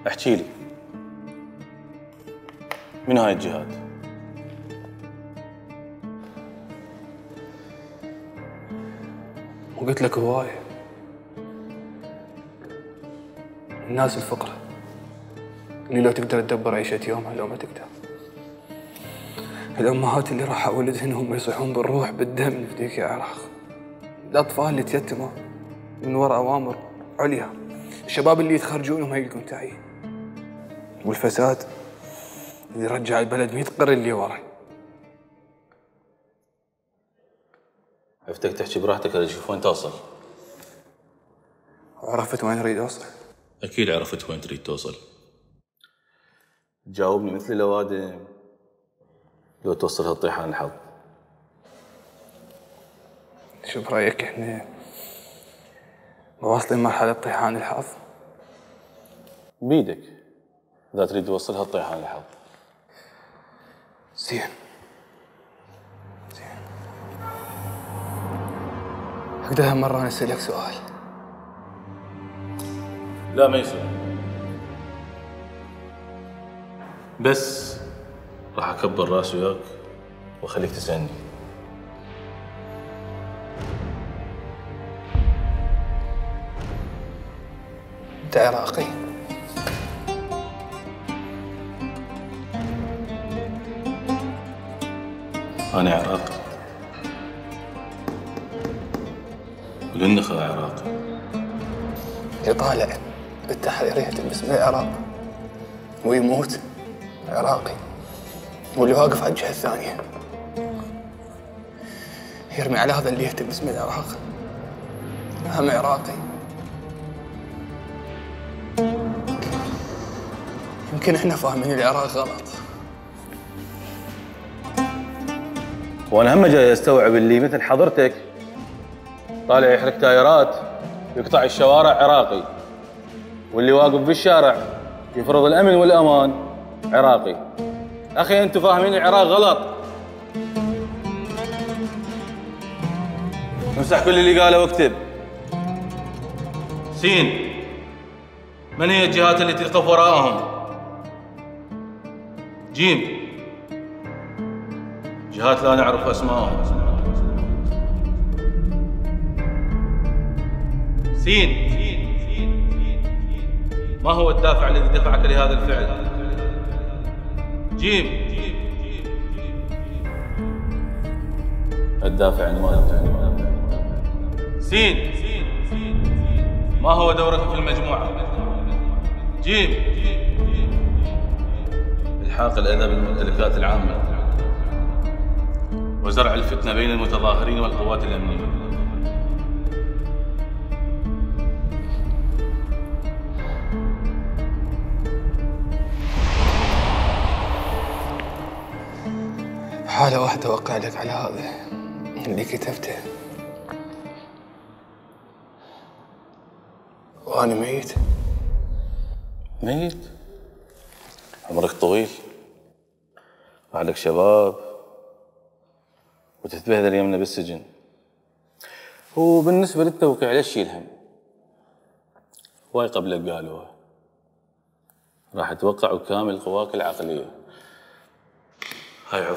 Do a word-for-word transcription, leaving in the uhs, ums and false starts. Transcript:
احكي لي، من هاي الجهات؟ وقلت لك هواية. الناس الفقراء اللي لو تقدر تدبر عيشة يومها لو ما تقدر. الأمهات اللي راح ولدهن هم يصيحون بالروح بالدم في ذيك العراق. الأطفال اللي تيتموا من وراء أوامر عليا. الشباب اللي يتخرجون وما يلقون تعيين. والفساد اللي رجع البلد مئة قرن اللي ورا. عفتك تحكي براحتك ولا شوف وين توصل؟ عرفت وين اريد اوصل؟ اكيد عرفت وين تريد توصل. تجاوبني مثل الاوادم لو توصل هالطيحان الحظ. شو برايك احنا واصلين مرحلة طيحان الحظ؟ بيدك اذا تريد توصل هالطيحان الحظ. زين زين. اقدر هالمرة انا اسألك سؤال؟ لا ما يصير. بس راح اكبر راسي وياك واخليك تسألني. انت عراقي؟ انا عراقي والنخا عراقي. يطالع بالتحرير يهتم باسم العراق ويموت عراقي، واللي واقف على الجهة الثانية يرمي على هذا اللي يهتم باسم العراق هم عراقي. يمكن احنا فاهمين العراق غلط. وانا هم جاي استوعب اللي مثل حضرتك طالع يحرق تايرات يقطع الشوارع عراقي، واللي واقف بالشارع يفرض الامن والامان عراقي. اخي انتم فاهمين العراق غلط. امسح كل اللي قاله واكتب. سين، من هي الجهات التي تقف وراءهم؟ جيم، جهات لا نعرف اسمائهم. سين، ما هو الدافع الذي دفعك لهذا الفعل؟ جيم، الدافع عنوانك. سين، ما هو دورك في المجموعة؟ جيم، إلحاق الأذى بالممتلكات العامة وزرع الفتنة بين المتظاهرين والقوات الأمنية. حالة واحدة أوقع لك على هذا اللي كتبته وأنا ميت. ميت؟ عمرك طويل، بعدك شباب وتتبهدل يمنا بالسجن. وبالنسبة للتوقيع لا تشيل هم، هواي قبلك قالوها، راح توقع بكامل قواك العقلية. هاي عفوا.